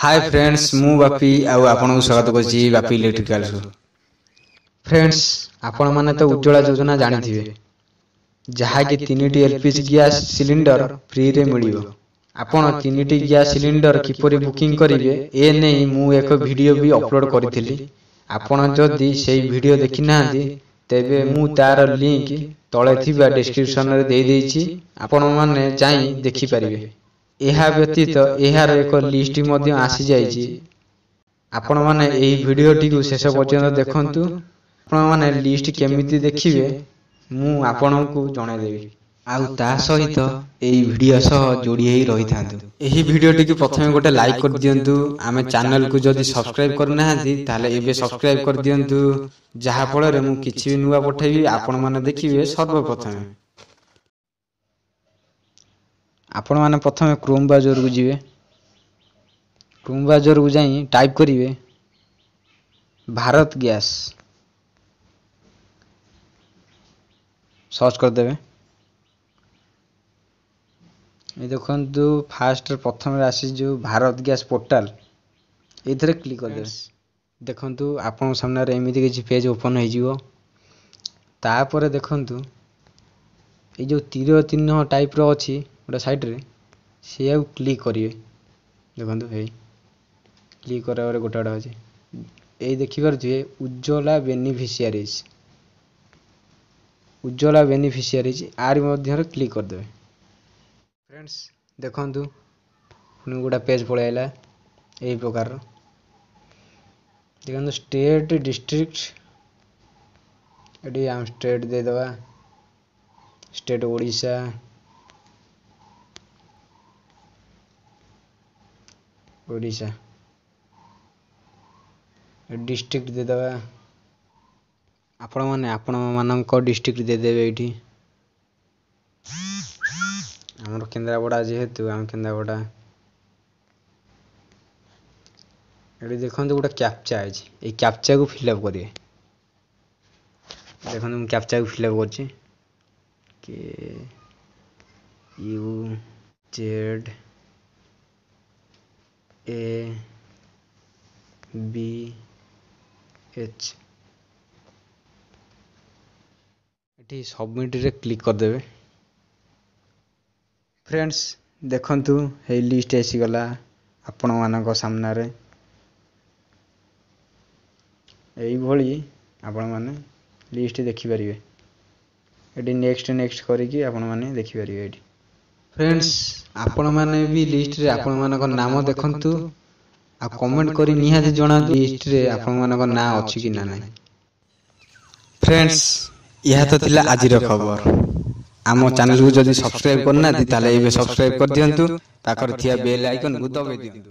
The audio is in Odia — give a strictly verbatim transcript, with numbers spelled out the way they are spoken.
ହାଏ ଫ୍ରେଣ୍ଡସ୍, ମୁଁ ବାପି ଆଉ ଆପଣଙ୍କୁ ସ୍ୱାଗତ କରୁଛି ବାପି ଇଲେକ୍ଟ୍ରିକାଲ୍ସକୁ। ଫ୍ରେଣ୍ଡସ୍, ଆପଣମାନେ ତ ଉଜ୍ଜ୍ୱଳା ଯୋଜନା ଜାଣିଥିବେ, ଯାହାକି ତିନିଟି L P G gas cylinder ଫ୍ରିରେ ମିଳିବ। ଆପଣ ତିନିଟି ଗ୍ୟାସ୍ ସିଲିଣ୍ଡର କିପରି ବୁକିଂ କରିବେ, ଏ ନେଇ ମୁଁ ଏକ ଭିଡ଼ିଓ ବି ଅପଲୋଡ଼ କରିଥିଲି। ଆପଣ ଯଦି ସେଇ ଭିଡ଼ିଓ ଦେଖିନାହାନ୍ତି, ତେବେ ମୁଁ ତାର ଲିଙ୍କ ତଳେ ଥିବା ଡିସ୍କ୍ରିପସନରେ ଦେଇଦେଇଛି, ଆପଣମାନେ ଯାଇ ଦେଖିପାରିବେ। ଏହା ବ୍ୟତୀତ ଏହାର ଏକ ଲିଷ୍ଟ ମଧ୍ୟ ଆସିଯାଇଛି। ଆପଣମାନେ ଏହି ଭିଡ଼ିଓଟିକୁ ଶେଷ ପର୍ଯ୍ୟନ୍ତ ଦେଖନ୍ତୁ। ଆପଣମାନେ ଲିଷ୍ଟ କେମିତି ଦେଖିବେ, ମୁଁ ଆପଣଙ୍କୁ ଜଣାଇଦେବି। ଆଉ ତା ସହିତ ଏଇ ଭିଡ଼ିଓ ସହ ଯୋଡ଼ି ହେଇ ରହିଥାନ୍ତୁ। ଏହି ଭିଡ଼ିଓଟିକୁ ପ୍ରଥମେ ଗୋଟେ ଲାଇକ୍ କରିଦିଅନ୍ତୁ। ଆମେ ଚ୍ୟାନେଲକୁ ଯଦି ସବସ୍କ୍ରାଇବ୍ କରିନାହାନ୍ତି, ତାହେଲେ ଏବେ ସବସ୍କ୍ରାଇବ୍ କରିଦିଅନ୍ତୁ, ଯାହାଫଳରେ ମୁଁ କିଛି ବି ନୂଆ ପଠେଇବି, ଆପଣମାନେ ଦେଖିବେ ସର୍ବପ୍ରଥମେ। ଆପଣମାନେ ପ୍ରଥମେ କ୍ରୋମ୍ ବ୍ରାଉଜରକୁ ଯିବେ। କ୍ରୋମ୍ ବ୍ରାଉଜରକୁ ଯାଇ ଟାଇପ୍ କରିବେ ଭାରତ ଗ୍ୟାସ୍, ସର୍ଚ୍ଚ କରିଦେବେ। ଏ ଦେଖନ୍ତୁ, ଫାଷ୍ଟ ପ୍ରଥମରେ ଆସିଛି ଯେଉଁ ଭାରତ ଗ୍ୟାସ୍ ପୋର୍ଟାଲ, ଏଇଥିରେ କ୍ଲିକ୍ କରିଦେବେ। ଦେଖନ୍ତୁ, ଆପଣଙ୍କ ସାମ୍ନାରେ ଏମିତି କିଛି ପେଜ୍ ଓପନ୍ ହେଇଯିବ। ତାପରେ ଦେଖନ୍ତୁ, ଏଇ ଯେଉଁ ତୀର ଚିହ୍ନ ଟାଇପ୍ର ଅଛି ଗୋଟେ ସାଇଡ଼୍ରେ, ସେଇଆକୁ କ୍ଲିକ୍ କରିବେ। ଦେଖନ୍ତୁ, ହେଇ କ୍ଲିକ୍ କରିବା ପରେ ଗୋଟେ ଗୋଟେ ଅଛି। ଏଇ ଦେଖିପାରୁଥିବେ ଉଜ୍ଜ୍ୱଲା ବେନିଫିସିଆରିଜ୍। ଉଜ୍ଜ୍ୱଲା ବେନିଫିସିଆରିଜ୍ ଆରି ମଧ୍ୟରେ କ୍ଲିକ୍ କରିଦେବେ। ଫ୍ରେଣ୍ଡସ୍, ଦେଖନ୍ତୁ, ପୁଣି ଗୋଟେ ପେଜ୍ ପଳେଇ ଆସିଲା ଏହି ପ୍ରକାରର। ଦେଖନ୍ତୁ, ଷ୍ଟେଟ୍, ଡିଷ୍ଟ୍ରିକ୍ଟ, ଏଠି ଆମେ ଷ୍ଟେଟ୍ ଦେଇଦେବା, ଷ୍ଟେଟ୍ ଓଡ଼ିଶା। ଓଡ଼ିଶା ଡିଷ୍ଟ୍ରିକ୍ଟ ଦେଇଦେବା। ଆପଣମାନେ ଆପଣମାନଙ୍କ ଡିଷ୍ଟ୍ରିକ୍ଟ ଦେଇଦେବେ। ଏଇଠି ଆମର କେନ୍ଦ୍ରାପଡ଼ା, ଯେହେତୁ ଆମେ କେନ୍ଦ୍ରାପଡ଼ା। ଏଠି ଦେଖନ୍ତୁ, ଗୋଟେ କ୍ୟାପଚା ଅଛି, ଏଇ କ୍ୟାପଚାକୁ ଫିଲ୍ଅପ୍ କରିବେ। ଦେଖନ୍ତୁ, ମୁଁ କ୍ୟାପଚାକୁ ଫିଲ୍ଅପ୍ କରୁଛି, କେ you Z A B H. ଏଠି ସବମିଟ୍ରେ କ୍ଲିକ୍ କରିଦେବେ। ଫ୍ରେଣ୍ଡସ୍, ଦେଖନ୍ତୁ, ଏଇ ଲିଷ୍ଟ ଆସିଗଲା ଆପଣମାନଙ୍କ ସାମ୍ନାରେ। ଏଇଭଳି ଆପଣମାନେ ଲିଷ୍ଟ ଦେଖିପାରିବେ। ଏଠି ନେକ୍ସଟ ନେକ୍ସଟ କରିକି ଆପଣମାନେ ଦେଖିପାରିବେ ଏଇଠି। ଫ୍ରେଣ୍ଡସ୍, ଆପଣମାନେ ବି ଲିଷ୍ଟରେ ଆପଣମାନଙ୍କ ନାମ ଦେଖନ୍ତୁ ଆଉ କମେଣ୍ଟ କରି ନିହାତି ଜଣାନ୍ତୁ, ଲିଷ୍ଟରେ ଆପଣମାନଙ୍କ ନାଁ ଅଛି କି ନା ନାହିଁ। ଫ୍ରେଣ୍ଡସ୍, ଏହା ତ ଥିଲା ଆଜିର ଖବର। ଆମ ଚ୍ୟାନେଲକୁ ଯଦି ସବସ୍କ୍ରାଇବ୍ କରିନାହାନ୍ତି, ତାହେଲେ ଏବେ ସବସ୍କ୍ରାଇବ୍ କରିଦିଅନ୍ତୁ, ପାଖରେ ଥିବା ବେଲ୍ ଆଇକନ୍କୁ ଦବାଇ ଦିଅନ୍ତୁ।